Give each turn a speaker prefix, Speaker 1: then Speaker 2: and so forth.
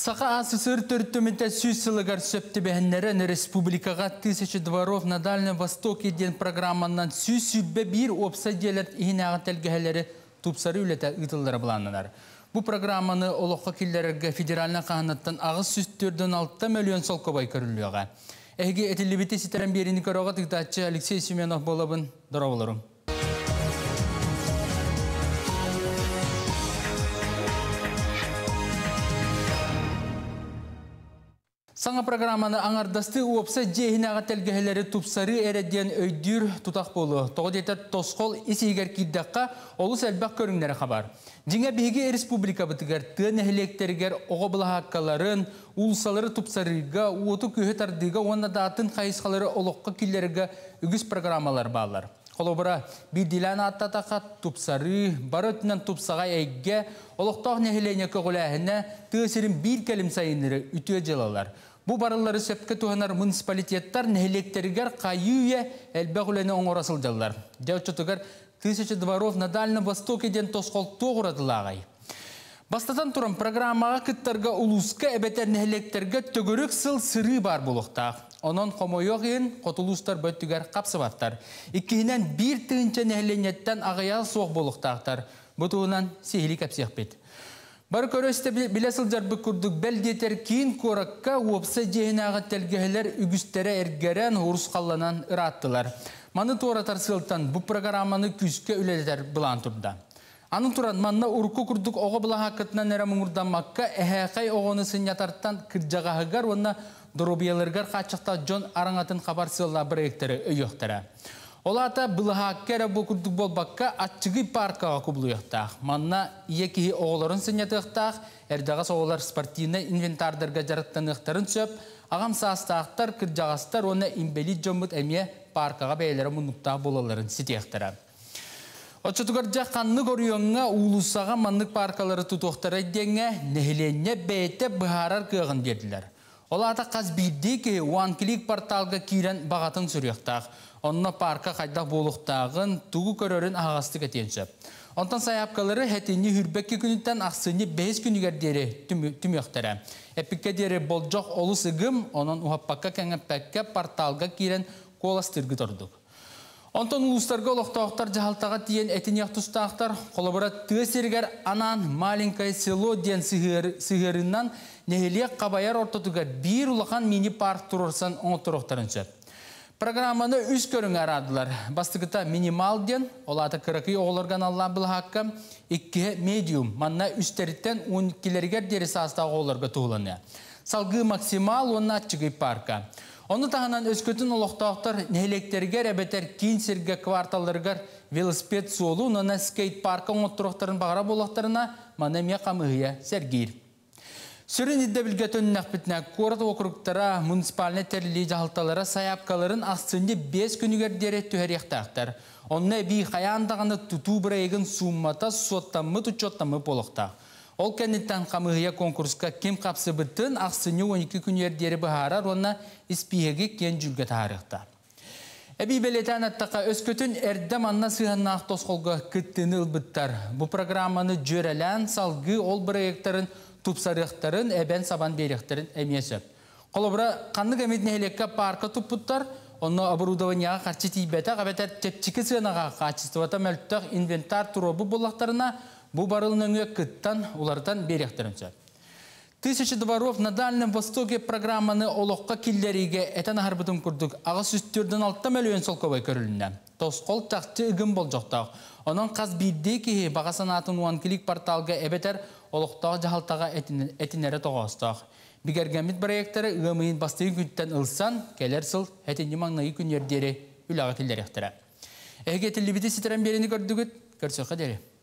Speaker 1: Саха АССР төрүттэммитэ 100 сылыгар сөп түбэһиннэрэн республикаҕа «Тысяча дворов на Дальнем Востоке» диэн программанан 121 уопсай дьиэлэр иһинээҕи тэлгэһэлэри тупсарыы үлэтэ ыытыллара былааннанар. Бу программаны олоххо киллэрэргэ федеральнай хаһынаттан 846 мөлүйүөн солкуобай көрүллүөҕэ. Эһиги этиллибити ситэрэн биэриини көрөҕүт, ыытааччы Алексей Семенов буолабын. Дорооболоруҥ. Саҥа программаны аҥардастыы уопсай дьиэ иһинээҕи тэлгэһэлэри тупсарыы эрэ диэн өйдүүр тутах буолуо. Тоҕо диэтэр тосхол ис иһигэр киирдэххэ олус элбэх көрүҥнэри хабар. Дьиҥэ биһиги республикабытыгар тыа нэһилиэктэригэр оҕо былаһааккаларын, уулуссалары тупсарыыга, уоту-күөһү тардыыга уонна да атын хайысхалары олоххо киллэрэргэ үгүс программалар бааллар. Холобура, биирдиилээн ааттаатахха, тупсарыы, бары өттүнэн тупсаҕай эйгэ, олохтоох нэһилиэнньэ көҕүлээһинэ, тыа сирин биир кэлим сайыннары үтүө дьыалалар. Бу барыллары сөпкө туһанар муниципалитеттар нэһилиэктэригэр хайыы-үйэ элбэх үлэни оҥоро сылдьаллар. Дьэ, оччотугар «Тысяча дворов на Дальнем Востоке» диэн тосхол туох уратылааҕый? Бастатан туран, программаҕа кыттарга улууска эбэтэр нэһилиэктэргэ төгүрүк сыл сырыы баар буолуохтаах. Онон хомойуох иһин, хоту улуустар бу өттүгэр хапсыбаттар. Иккиһинэн, 1 тыһыынча нэһилиэнньэттэн аҕыйаҕа суох буолуохтаахтар. Бу туһунан сиһилии кэпсиэхпит. Бары көрө-истэ билэ сылдьарбыт курдук, бэл диэтэр киин куоракка уопсай дьиэ иһинээҕи тэлгэһэлэр үгүстэрэ эргэрэн, урусхалланан ырааттылар. Маны туоратар сыалтан бу программаны күүскэ үлэлэтэр былаан турда. Аны туран, манна урукку курдук оҕо былаһааккатынан эрэ муҥурдаммакка, эһээхэй оҕону сынньатартан кырдьаҕаһыгар уонна доруобуйаларыгар хааччахтаах дьон араҥатын хабар сыаллаах бырайыактары өйүөхтэрэ. Ол аата былаһаакка эрэ бу курдук буолбакка, аччыгый пааркаҕа кубулуйуохтаах. Манна ийэ киһи оҕолорун сынньатыахтаах, эрдэҕэс оҕолор спортивнай инвентардарга дьарыктаныахтарын сөп, аҕам саастаахтар, кырдьаҕастар уонна инбэлиит дьоммут эмиэ пааркаҕа бэйэлэрэ муннуктаах буолалларын ситиэхтэрэ. Оччотугар дьэ ханнык оройуоҥҥа уулуссаҕа маннык пааркалары тутуохтарай диэҥҥэ нэһилиэнньэ бэйэтэ быһаарар кыаҕын биэрдилэр. Ол аата хас биирдии киһи OneClick порталга киирэн баҕатын суруйуохтаах. Онно паарка хайдах буолуохтааҕын, тугу көрөрүн аһаҕастык этиэн сөп. Онтон сайаапкалары сэтинньи 22 күнүттэн ахсынньы 5 күнүгэр диэри түмүөхтэрэ. Эппиккэ диэри болдьох олус ыгым, онон уһаппакка кэҥэппэккэ порталга киирэн куоластыыргыт ордук. Онтон улуустарга олохтоохтор дьаһалтаҕа тиийэн этиниэх тустаахтар. Холобура, тыа сиригэр анаан «Маленькое село» диэн сыһыарыынан нэһилиэк хабайар ортотугар биир улахан мини-парк туруорсан оҥотторуохтарын сөп. Программаны үс көрүҥҥэ араардылар. Бастакыта минимал диэн, ол аата кыракый оҕолорго аналлаах былаһаакка, иккиһэ медиум, манна үстэриттэн 12-лэригэр диэри саастаах оҕолорго туһуланыа. Салгыы максимал уонна аччыгый парка. Ону таһынан өскөтүн олохтоохтор нэһилиэктэригэр эбэтэр киин сиргэ кварталларыгар велосипед суолу уонна скейт-парка оҥотторуохтарын баҕарар буоллахтарына, маны эмиэ хамыыһыйа сэргиир. Сүрүн ирдэбилгэ төннөхпүтүнэ, куорат округтара, муниципальнай тэриллии дьаһалталара сайаапкаларын ахсынньы 5 күнүгэр диэри түһэриэхтээхтэр. Онно эбии хайаан даҕаны тутуу бырайыагын сууммата суоттаммыт, учуоттаммыт буолуохтаах. Ол кэнниттэн хамыыһыйа конкурска ким хапсыбытын ахсынньы 12 күнүгэр диэри быһаарар уонна испииһэги киэҥ дьүүлгэ таһаарыахтаах. Эбии бэлиэтээн эттэххэ, өскөтүн эрдэ манна сыһыаннаах тосхолго кыттыыны ылбыттар. Бу программаны дьүөрэлээн салгыы ол бырайыактарын тупсарыахтарын, эбэн сабан биэриэхтэрин эмиэ сөп. Холобура, ханнык эмит нэһилиэккэ парка туппуттар, онно оборудованияҕа харчы тиийбэтэх эбэтэр чэпчэки сыанаҕа хаачыстыбата мөлтөх инвентарь туруорбут буоллахтарына, бу барыл нөҥүө кыттан уларытан биэриэхтэрин сөп. «Тысяча дворов на Дальнем Востоке» программаны олоххо киллэриигэ этэн аһарбытым курдук 846 мөлүйүөн солкуобай көрүлүннэ. Тосхол чахчы ыгым болдьохтоох. Онон хас биирдии киһи баҕа санаатын OneClick порталга эбэтэр олохтоох дьаһалтаҕа этинэрэ тоҕоостоох. Бигэргэммит бырайыактары ыам ыйын бастакы күнтэн ылсан, кэлэр сыл сэтинньи маҥнайгы күнүгэр диэри үлэҕэ киллэриэхтэрэ. Эһиги этиллибити ситэрэн биэриини көрдүгүт, көрсүөххэ диэри.